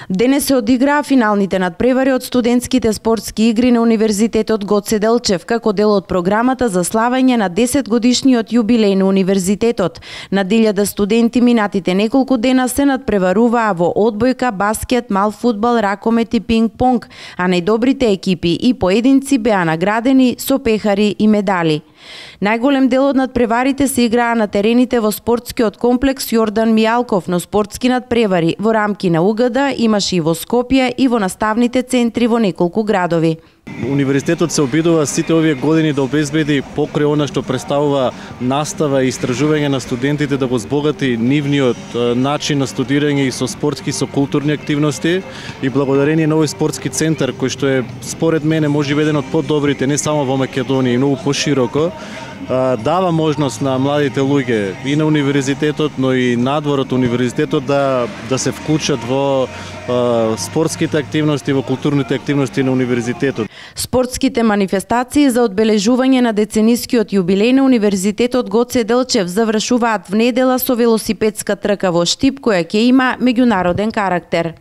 Денес се одиграа финалните надпревари од студентските спортски игри на Универзитетот Гоце Делчев како дел од програмата за славење на 10 годишниот јубилеј на универзитетот. На 1000 студенти минатите неколку дена се надпреваруваа во одбојка, баскет, мал фудбал, ракомет и пинг-понг, а најдобрите екипи и поединци беа наградени со пехари и медали. Најголем дел од надпреварите се играа на терените во спортскиот комплекс Јордан Мијалков, но спортски надпревари во рамки на УГД имаше и во Скопје и во наставните центри во неколку градови. Универзитетот се обидува сите овие години да обезбеди покрај она што представува настава и истражување на студентите да го збогати нивниот начин на студирање и со спортски, со културни активности, и благодарение на овој спортски центар кој што е според мене можеби еден од подобрите не само во Македонија и многу пошироко, дава можност на младите луѓе и на универзитетот, но и надвор од универзитетот да се вклучат во спортските активности, во културните активности на универзитетот. Спортските манифестации за одбележување на деценискиот јубилеј на Универзитетот Гоце Делчев завршуваат внедела со велосипедска трка во Штип која ќе има меѓународен карактер.